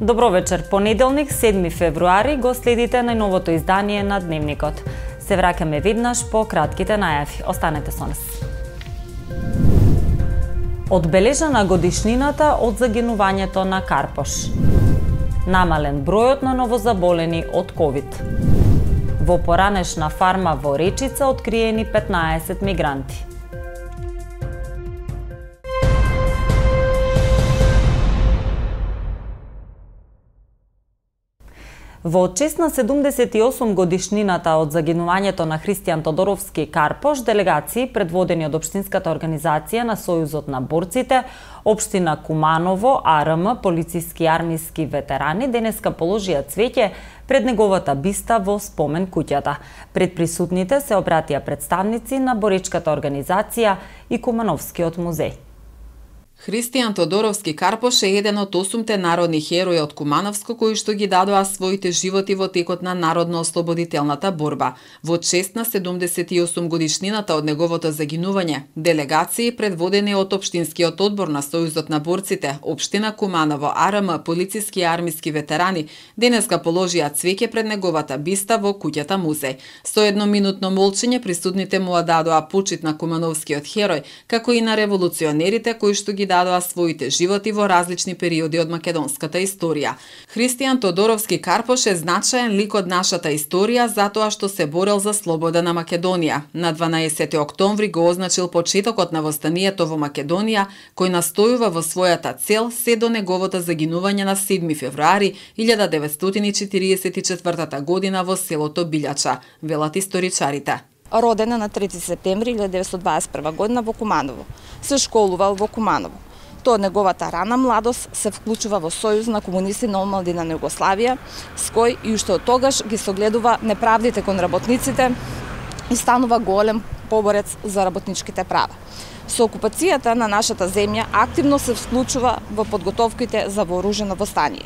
Добро вечер, понеделник, 7 февруари, го следите најновото издание на Дневникот. Се враќаме веднаш по кратките најави. Останете со нас. Одбележана годишнината од загинувањето на Карпош. Намален бројот на новозаболени од ковид. Во поранешна фарма во Речица откриени 15 мигранти. Во чест на 78 годишнината од загинувањето на Христијан Тодоровски Карпош, делегации предводени од Општинската организација на Сојузот на борците, Општина Куманово, АРМ, полициски и армиски ветерани денеска положија цвеќе пред неговата биста во спомен куќата. Пред присутните се обратија представници на боречката организација и Кумановскиот музеј. Христијан Тодоровски Карпош е еден од 8 народни херои од Кумановско кои што ги дадоа своите животи во текот на народно-ослободителната борба. Во чест на 78 годишнината од неговото загинување, делегации предводени од Општинскиот одбор на Сојузот на борците, Општина Куманово, АРМ, полициски и армиски ветерани, денеска положија цвеќе пред неговата биста во куќата музеј. Со едноминутно молчење присутните му дадоа почит на Кумановскиот херој, како и на револуционерите кои што ги дадоа своите животи во различни периоди од македонската историја. Христијан Тодоровски Карпош е значаен лик од нашата историја затоа што се борел за слобода на Македонија. На 12 октомври го означил почетокот на востанието во Македонија, кој настојува во својата цел се до неговото загинување на 7 февруари 1944 година во селото Билјача, велат историчарите. Роден е на 3 септември 1921 година во Куманово. Се школувал во Куманово. Тоа неговата рана младост се вклучува во Сојуз на комунисти на омладина на Југославија, с кој и уште од тогаш ги согледува неправдите кон работниците и станува голем поборец за работничките права. Со окупацијата на нашата земја активно се вклучува во подготовките за вооружено востание.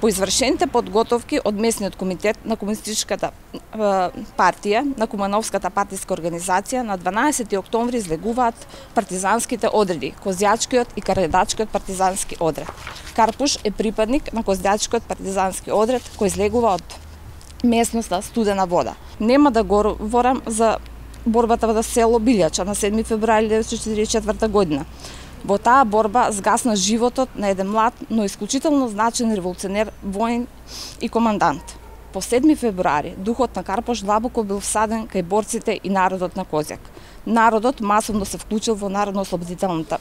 По извршените подготовки од местниот комитет на Комунистичката партија, на Кумановската партиска организација, на 12 октомври излегуваат партизанските одреди, Козјачкиот и Каредачкиот партизански одред. Карпош е припадник на Козјачкиот партизански одред, кој излегува од местноста Студена вода. Нема да говорам за борбата во село Билјача на 7 февруари 1944 година. Во таа борба згасна животот на еден млад, но исклучително значен револуционер, воин и командант. По 7 февруари духот на Карпош длабоко бил всаден кај борците и народот на Козјак. Народот масовно се вклучил во народно-ослободителната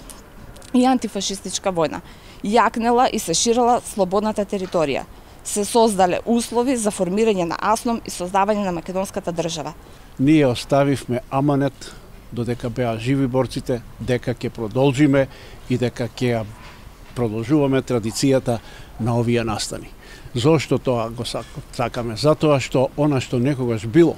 и антифашистичка војна. Јакнела и се ширила слободната територија. Се создале услови за формирање на АСНОМ и создавање на македонската држава. Ние оставивме аманет додека беа живи борците, дека ќе продолжиме и дека ќе продолжуваме традицијата на овие настани. Зошто тоа го сакаме? Затоа што она што некогаш било,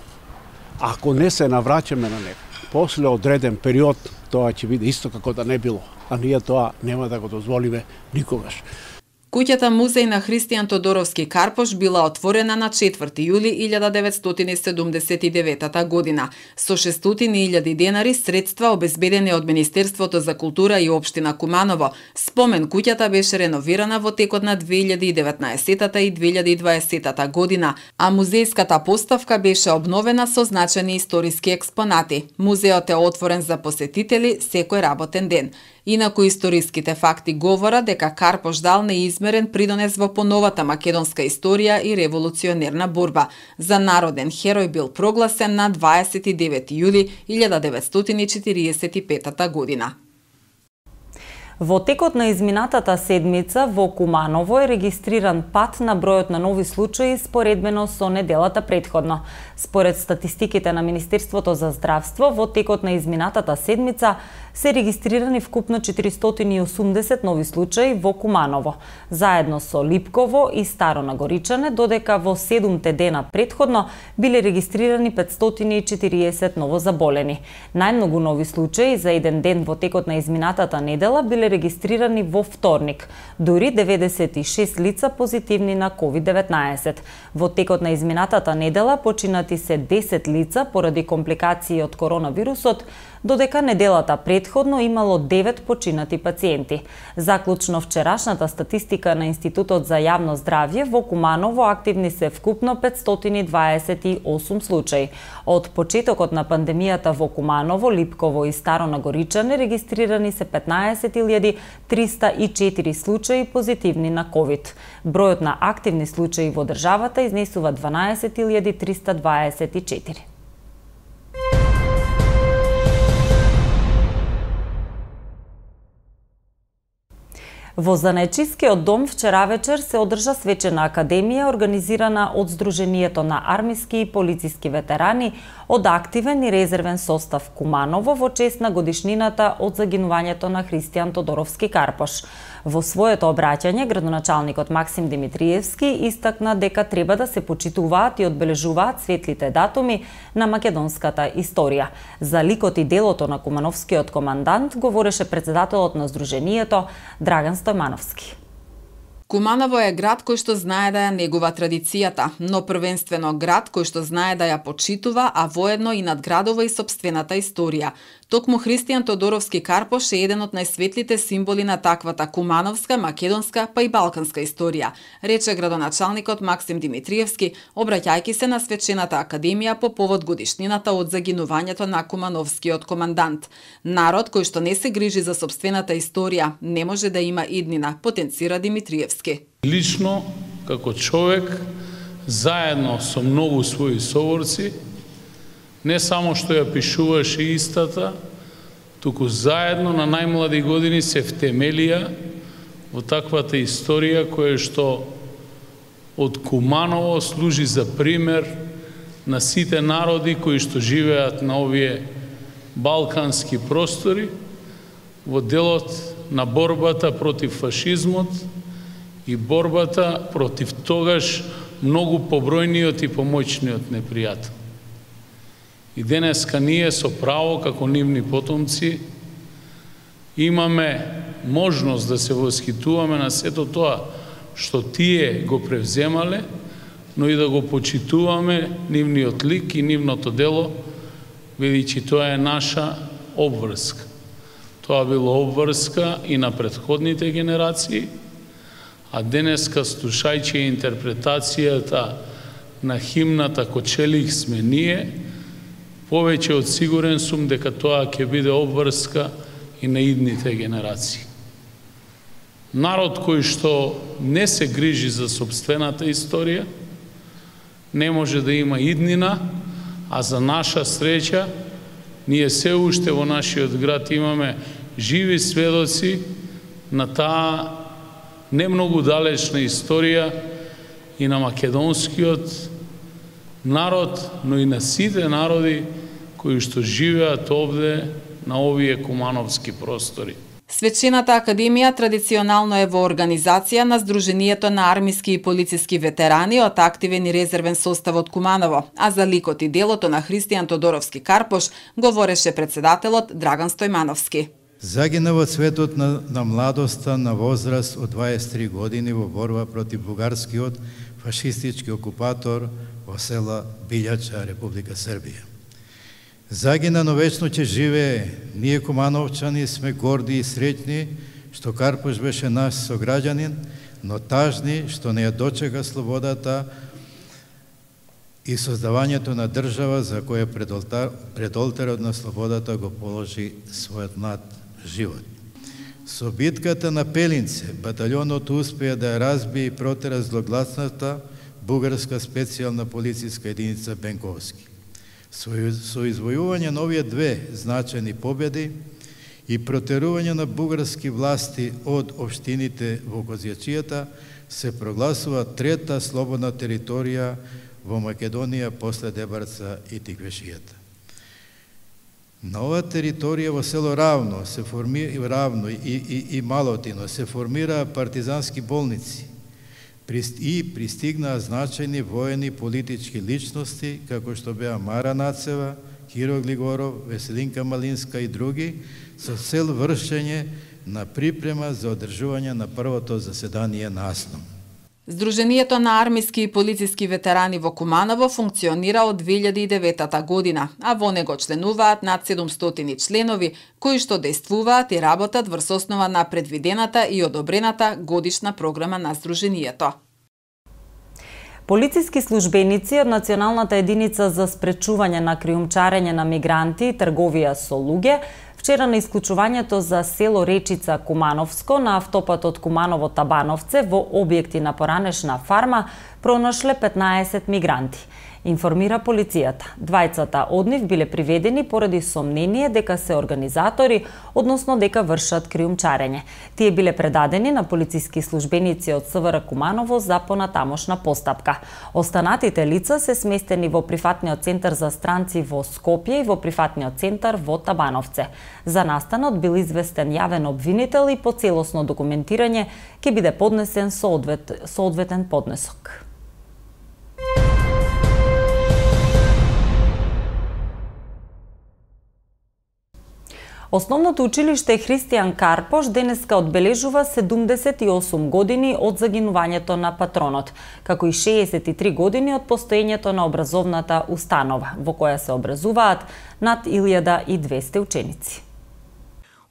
ако не се навраќаме на него, после одреден период, тоа ќе биде исто како да не било, а ние тоа нема да го дозволиме никогаш. Куќата музеј на Христијан Тодоровски Карпош била отворена на 4 јули 1979 година. Со 600.000 денари средства обезбедени од Министерството за култура и Општина Куманово, спомен куќата беше реновирана во текот на 2019 и 2020 година, а музејската поставка беше обновена со значени историски експонати. Музеот е отворен за посетители секој работен ден. Инаку историските факти говорат дека Карпош дал неизмерен придонес во поновата македонска историја и револуционерна борба. За народен херој бил прогласен на 29 јули 1945 година. Во текот на изминатата седмица во Куманово е регистриран пат на бројот на нови случаи споредбено со неделата претходно. Според статистиките на Министерството за здравство, во текот на изминатата седмица се регистрирани вкупно 480 нови случаи во Куманово, заедно со Липково и Старо Нагоричане, додека во 7 дена претходно биле регистрирани 540 новозаболени. Најмногу нови случаи за еден ден во текот на изминатата недела биле регистрирани во вторник, дури 96 лица позитивни на COVID-19. Во текот на изминатата недела починати се 10 лица поради компликации од коронавирусот, додека неделата пред предходно имало 9 починати пациенти. Заклучно вчерашната статистика на Институтот за јавно здравје, во Куманово активни се вкупно 528 случаи. Од почетокот на пандемијата во Куманово, Липково и Старо Нагоричане регистрирани се 15.304 случаи позитивни на COVID. Бројот на активни случаи во државата изнесува 12.324. Во Занечискиот дом вчера вечер се одржа свечена академија организирана од Сдруженијето на армиски и полициски ветерани од активен и резервен состав Куманово во чест на годишнината од загинувањето на Христијан Тодоровски Карпош. Во своето обраќање, градоначалникот Максим Димитриевски истакна дека треба да се почитуваат и одбележуваат светлите датуми на македонската историја. За ликот и делото на кумановскиот командант говореше председателот на Сдруженијето Драган Стојмановски. Куманово е град кој што знае да ја негува традицијата, но првенствено град кој што знае да ја почитува, а воедно и надградува и сопствената историја. Токму Христијан Тодоровски Карпош е еден од најсветлите символи на таквата кумановска, македонска, па и балканска историја, рече градоначалникот Максим Димитриевски, обраќајќи се на свечената академија по повод годишнината од загинувањето на кумановскиот командант. Народ кој што не се грижи за сопствената историја не може да има иднина, потенцира Димитриевски. Лично, како човек, заедно со многу своји соворци, не само што ја пишуваше истата, туку заедно на најмлади години се втемелија во таквата историја која што од Куманово служи за пример на сите народи кои што живеат на овие балкански простори во делот на борбата против фашизмот и борбата против тогаш многу побројниот и помоćниот непријател. И денеска ние со право, како нивни потомци, имаме можност да се восхитуваме на сето тоа што тие го превземале, но и да го почитуваме нивниот лик и нивното дело, бидејќи тоа е наша обврска. Тоа било обврска и на претходните генерации, а денеска, слушајќи интерпретацијата на химната Кочелих сме ние, повеќе од сигурен сум дека тоа ќе биде обврска и на идните генерации. Народ кој што не се грижи за сопствената историја, не може да има иднина, а за наша среќа, ние се уште во нашиот град имаме живи сведоци на таа не многу далечна историја и на македонскиот народ, но и на сите народи кои што живеат овде на овие кумановски простори. Свечената академија традиционално е во организација на Сдруженијето на армиски и полициски ветерани од активен и резервен состав од Куманово, а за ликот и делото на Христијан Тодоровски Карпош говореше председателот Драган Стојмановски. Загина во цветот на младоста на возраст од 23 години во борба против бугарскиот фашистички окупатор во села Билјача, Република Србија. Загина, но вечно ќе живее. Ние кумановчани сме горди и среќни што Карпош беше наш сограѓанин, но тажни што не ја дочека слободата и создавањето на држава за која пред олтарот на слободата го положи својот млад живот. Со битката на Пелинце, баталјонот успеа да ја разбие и протера злогласната бугарска специјална полициска единица Бенковски. Со извојување на овие две значајни победи и протерување на бугарски власти од општините во Козјачијата се прогласува трета слободна територија во Македонија после Дебарца и Тиквешијата. На оваа територија во село Равно и Малотино се формираа партизански болници и пристигнаа значајни воени политички личности, како што беа Мара Нацева, Киро Глигоров, Веселинка Малинска и други, со цел вршење на припрема за одржување на првото заседание на АСНОМ. Здруженијето на армиски и полициски ветерани во Куманово функционира од 2009 година, а во него членуваат над 700 членови, кои што действуваат и работат врз основа на предвидената и одобрената годишна програма на Здруженијето. Полициски службеници од Националната единица за спречување на криумчарење на мигранти и трговија со луѓе вчера на исклучувањето за село Речица Кумановско на автопатот Куманово-Табановце во објекти на поранешна фарма пронашле 15 мигранти. Информира полицијата. Двајцата од нив биле приведени поради сомнение дека се организатори, односно дека вршат криумчарење. Тие биле предадени на полициски службеници од СВР Куманово за понатамошна постапка. Останатите лица се сместени во прифатниот центар за странци во Скопје и во прифатниот центар во Табановце. За настанот бил известен јавен обвинител и по целосно документирање ќе биде поднесен соодветен поднесок. Основното училиште Христијан Карпош денеска одбележува 78 години од загинувањето на патронот, како и 63 години од постоењето на образовната установа, во која се образуваат над 1200 ученици.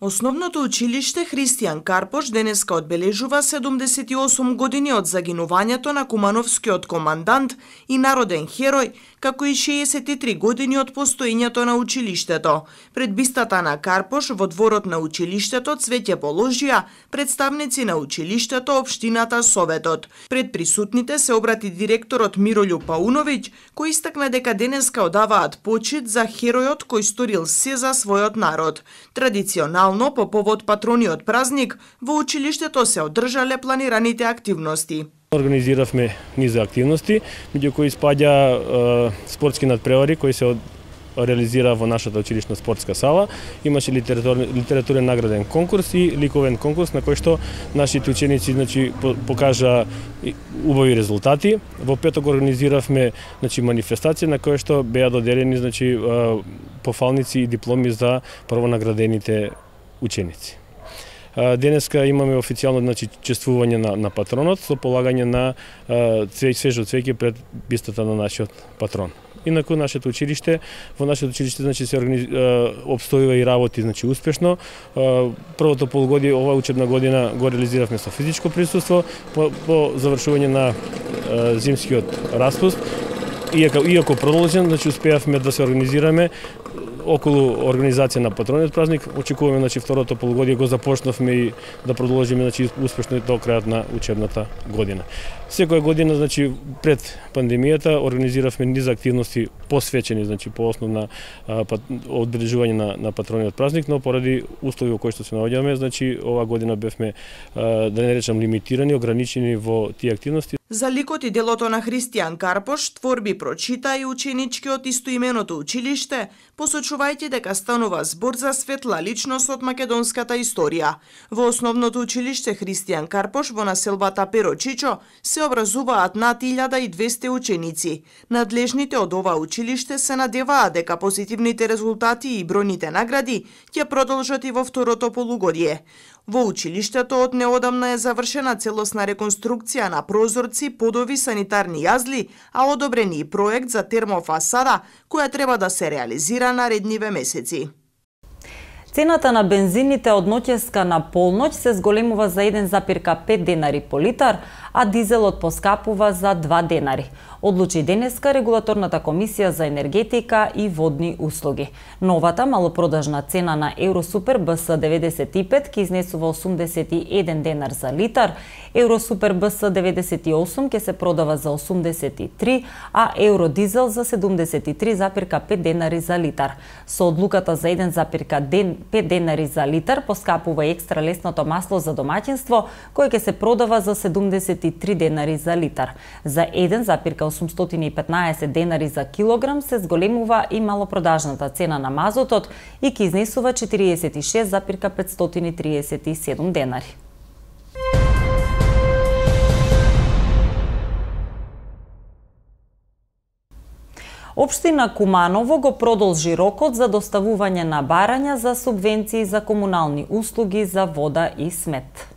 Основното училиште Христијан Карпош денеска одбележува 78 години од загинувањето на кумановскиот командант и народен херој, како и 63 години од постоењето на училиштето. Пред бистата на Карпош во дворот на училиштето цвеќе положија представници на училиштето, општината, советот. Пред присутните се обрати директорот Мирољу Пауновиќ, кој истакна дека денеска одаваат почит за херојот кој сторил се за својот народ. Традиционално по повод патрониот празник во училиштето се одржале планираните активности. Организиравме низ активности, меѓу кои спаѓа спортски надпревари кои се реализира во нашата училишна спортска сала. Имаше литературен награден конкурс и ликовен конкурс на кој што нашите ученици покажа убави резултати. Во петок организиравме манифестација на која што беа доделени пофалници и дипломи за првонаградените ученици. Денеска имаме официјално чествување на патронот со полагање на свежо цвеќе пред бистата на нашиот патрон. Инаку во нашето училиште се обстојува и работи успешно. Првото полугодие ова учебна година го реализиравме со физичко присуство по завршување на зимскиот распуст. Иако продолжен, успеавме да се организираме околу организација на патрониот празник. Очекуваме второто полугодие го започнавме и да продолжиме успешно до крајот на учебната година. Секоја година пред пандемијата организиравме низ активности посветени по основ на одбележување на патрониот празник, но поради услови во кои што се наоѓаме, оваа година бевме, да не речам, лимитирани, ограничени во тие активности. За ликот и делото на Христијан Карпош творби прочита и ученички од истоименото училиште, посочувајќи дека станува збор за светла личност од македонската историја. Во основното училиште Христијан Карпош во населбата Перочичо се образуваат над 1200 ученици. Надлежните од ова училиште се надеваат дека позитивните резултати и бројните награди ќе продолжат и во второто полугодие. Во училиштето од неодамна е завршена целосна реконструкција на прозорци, подови, санитарни јазли, а одобрен и проект за термофасада, која треба да се реализира наредниве месеци. Цената на бензините од ноќеска на полноќ се зголемува за 1,5 денари по литар, а дизелот поскапува за 2 денари. Одлучи денеска Регулаторната комисија за енергетика и водни услуги. Новата малопродажна цена на Евросупер БС 95 ќе изнесува 81 денар за литар, Евросупер БС 98 ќе се продава за 83, а Евродизел за 73,5 денари за литар. Со одлуката за 1,5 денари за литар поскапува и екстра лесното масло за домаќинство, кој ќе се продава за 73 денари за литар. За 1,815 денари за килограм се зголемува и малопродажната цена на мазотот и ќе изнесува 46,537 денари. Општина Куманово го продолжи рокот за доставување на барања за субвенции за комунални услуги за вода и смет.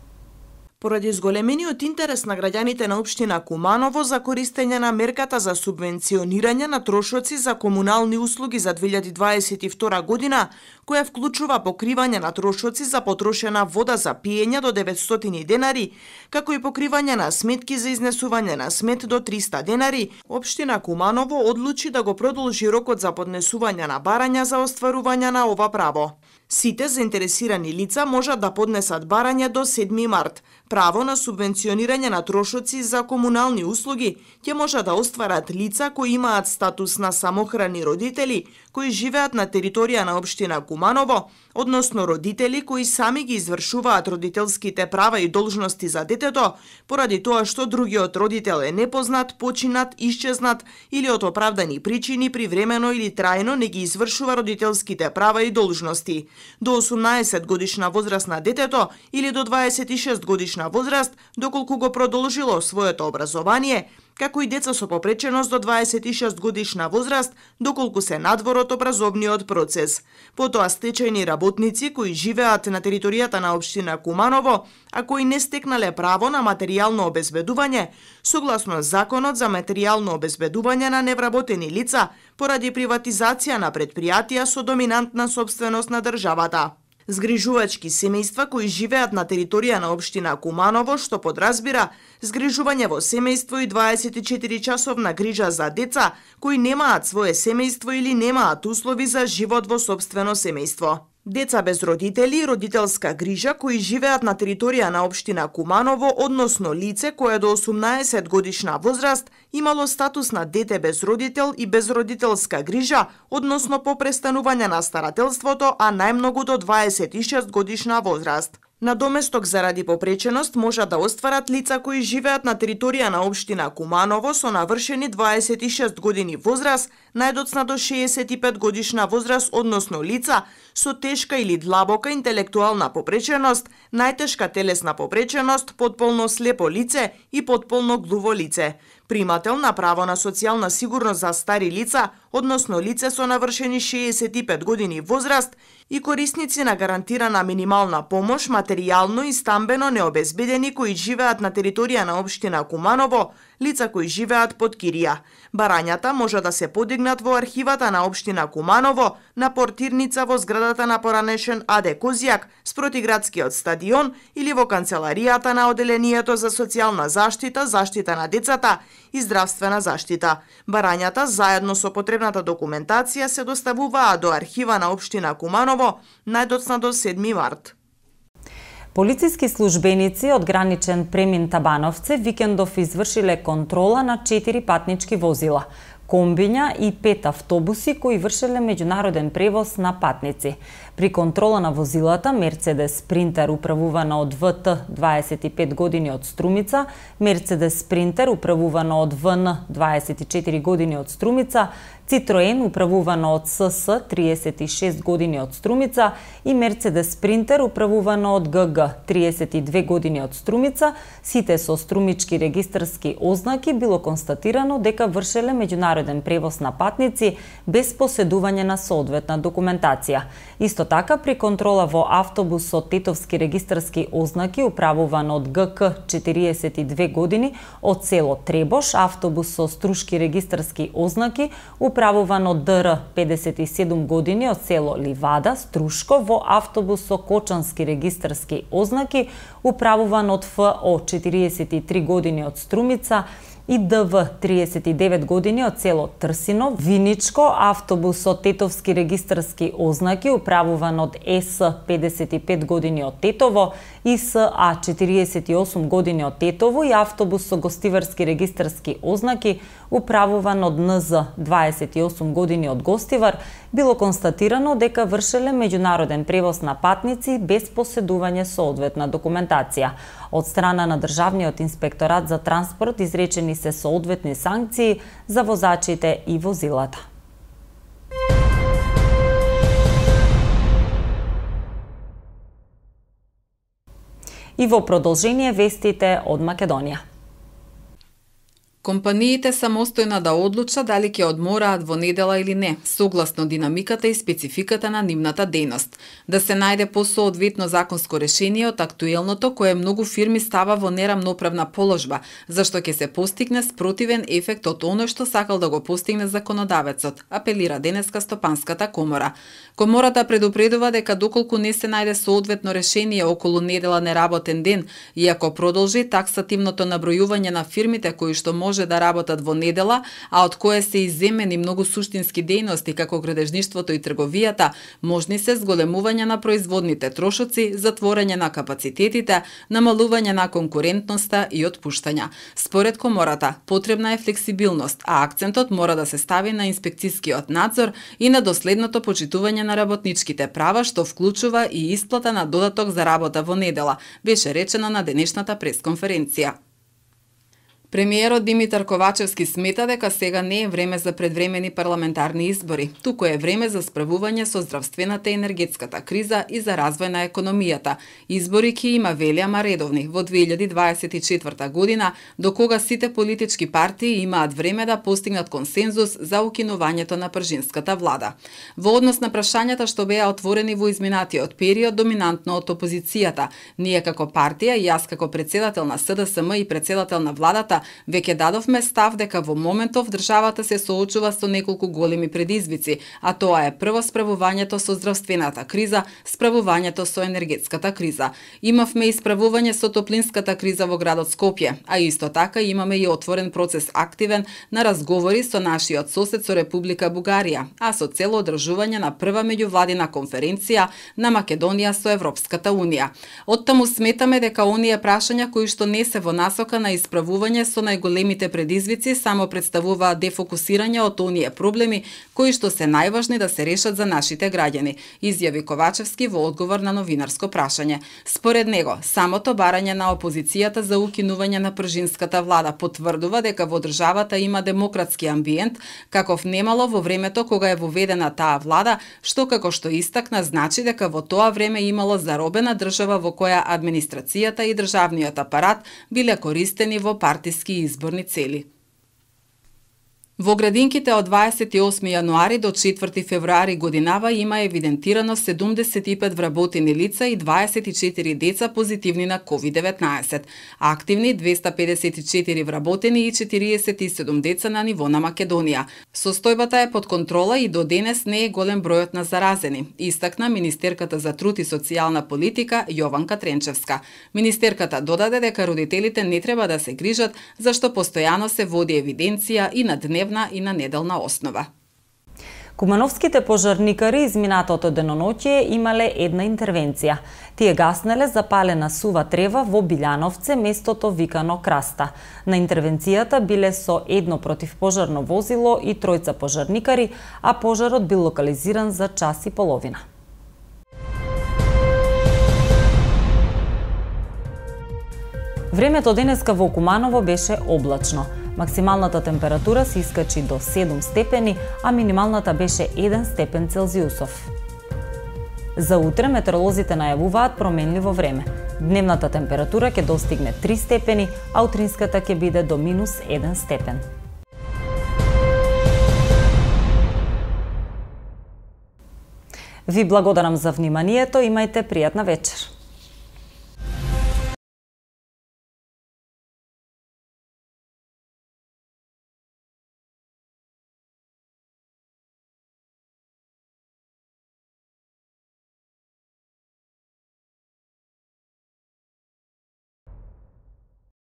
Поради зголемениот интерес на граѓаните на општина Куманово за користење на мерката за субвенционирање на трошоци за комунални услуги за 2022 година, која вклучува покривање на трошоци за потрошена вода за пиење до 900 денари, како и покривање на сметки за изнесување на смет до 300 денари, општина Куманово одлучи да го продолжи рокот за поднесување на барања за остварување на ова право. Сите заинтересирани лица можат да поднесат барање до 7 март. Право на субвенционирање на трошоци за комунални услуги ќе може да остварат лица кои имаат статус на самохрани родители, кои живеат на територија на општина Куманово, односно родители кои сами ги извршуваат родителските права и должности за детето, поради тоа што другиот родител е непознат, починат, исчезнат или од оправдани причини привремено или трајно не ги извршува родителските права и должности. До 18 годишна возраст на детето или до 26 годишна возраст, доколку го продолжило своето образование, како и деца со попреченост до 26 годишна возраст, доколку се надвор од образовниот процес. Потоа стечајни работници кои живеат на територијата на општина Куманово, а кои не стекнале право на материјално обезбедување, согласно Законот за материјално обезбедување на невработени лица, поради приватизација на предпријатија со доминантна собственост на државата. Згрижувачки семејства кои живеат на територија на општина Куманово, што подразбира згрижување во семејство и 24-часовна грижа за деца кои немаат свое семејство или немаат услови за живот во сопствено семејство. Деца без родители и родителска грижа кои живеат на територија на општина Куманово, односно лице кое до 18 годишна возраст имало статус на дете без родител и без родителска грижа, односно по престанување на старателството, а најмногу до 26 годишна возраст. Надоместок заради попреченост можат да остварат лица кои живеат на територија на општина Куманово со навршени 26 години возраст, најдоцна до 65 годишна возраст, односно лица со тешка или длабока интелектуална попреченост, најтешка телесна попреченост, потполно слепо лице и потполно глуво лице. Примател на право на социјална сигурност за стари лица, односно лице со навршени 65 години возраст и корисници на гарантирана минимална помош, материјално и стамбено необезбедени кои живеат на територија на општина Куманово, лица кои живеат под кирија. Барањата може да се подигнат во архивата на општина Куманово, на портирница во зградата на поранешен АД Козјак, спроти градскиот стадион или во канцеларијата на Оделението за социјална заштита, заштита на децата и здравствена заштита. Барањата заедно со потребната документација се доставуваат до архива на општина Куманово најдоцна до 7 март. Полициски службеници од граничен премин Табановце викендов извршиле контрола на 4 патнички возила, комбиња и 5 автобуси кои вршеле меѓународен превоз на патници. При контрола на возилата Мерцедес Спринтер управувана од ВТ 25 години од Струмица, Мерцедес Спринтер управувана од ВН 24 години од Струмица, Citroen управувано од СС 36 години од Струмица и Мерцедес Спринтер управувано од ГГ 32 години од Струмица, сите со струмички регистарски ознаки било констатирано дека вршеле меѓународен превоз на патници без поседување на соодветна документација. Исто така при контрола во автобус со тетовски регистарски ознаки управуван од ГК 42 години од село Требош, автобус со струшки регистарски ознаки управуван од ДР 57 години од село Ливада, Струшко, во автобус со кочански регистарски ознаки управуван од ФО 43 години од Струмица и ДВ 39 години од село Трсино, Виничко, автобус со тетовски регистарски ознаки управуван од СС 55 години од Тетово и СА 48 години од Тетово и автобус со гостиварски регистарски ознаки управуван од НЗ 28 години од Гостивар, било констатирано дека вршеле меѓународен превоз на патници без поседување соодветна документација. Од страна на Државниот инспекторат за транспорт изречени се соодветни санкции за возачите и возилата. И во продолжение вестите од Македонија. Компаниите самостојно да одлучат дали ќе одмораат во недела или не, согласно динамиката и спецификата на нивната дејност. Да се најде посоодветно законско решение од актуелното кое многу фирми става во нерамноправна положба, зашто ќе се постигне спротивен ефект од оно што сакал да го постигне законодавецот, апелира денеска Стопанската комора. Комората предупредува дека доколку не се најде соодветно решение околу недела неработен ден, иако продолжи таксативното набројување на фирмите кои што може да работат во недела, а од кое се изземени многу суштински дејности како градежништвото и трговијата, можни се зголемување на производните трошоци, затворање на капацитетите, намалување на конкурентноста и отпуштања. Според комората, потребна е флексибилност, а акцентот мора да се стави на инспекцискиот надзор и на доследното почитување на работничките права, што вклучува и исплата на додаток за работа во недела, беше речено на денешната пресконференција. Премиерот Димитар Ковачевски смета дека сега не е време за предвремени парламентарни избори, туку е време за справување со здравствената и енергетската криза и за развој на економијата. Избори ќе има, вели, ама редовни во 2024 година, до кога сите политички партии имаат време да постигнат консензус за укинувањето на пржинската влада. Во однос на прашањата што беа отворени во изминатиот период доминантно од опозицијата, ние како партија и јас како председател на СДСМ и председател на владата веќе дадовме став дека во моментов државата се соочува со неколку големи предизвици, а тоа е прво справувањето со здравствената криза, справувањето со енергетската криза. Имавме и справување со топлинската криза во градот Скопје, а исто така имаме и отворен процес активен на разговори со нашиот сосед со Република Бугарија, а со цел одржување на прва меѓувладина конференција на Македонија со Европската Унија. Оттаму сметаме дека оние прашања кои што не се во насока на исправување со најголемите предизвици само представуваат дефокусирање од оние проблеми кои што се најважни да се решат за нашите граѓани, изјави Ковачевски во одговор на новинарско прашање. Според него, самото барање на опозицијата за укинување на пржинската влада потврдува дека во државата има демократски амбиент, каков немало во времето кога е воведена таа влада, што како што истакна значи дека во тоа време имало заробена држава во која администрацијата и државниот апарат биле користени во партиски и изборни цели. Во градинките од 28 јануари до 4 февруари годинава има евидентирано 75 вработени лица и 24 деца позитивни на COVID-19. Активни 254 вработени и 47 деца на ниво на Македонија. Состојбата е под контрола и до денес не е голем бројот на заразени, истакна министерката за труд и социјална политика Јованка Тренчевска. Министерката додаде дека родителите не треба да се грижат, зашто постојано се води евиденција и на дневна и на неделна основа. Кумановските пожарникари изминатото деноноќие имале една интервенција. Тие гаснеле запалена сува трева во Билјановце, местото викано Краста. На интервенцијата биле со едно противпожарно возило и тројца пожарникари, а пожарот бил локализиран за час и половина. Времето денеска во Куманово беше облачно. Максималната температура се искачи до 7 степени, а минималната беше 1 степен Целзиусов. За утре метеоролозите најавуваат променливо време. Дневната температура ќе достигне 3 степени, а утринската ќе биде до -1 степен. Ви благодарам за вниманието, имајте пријатна вечер.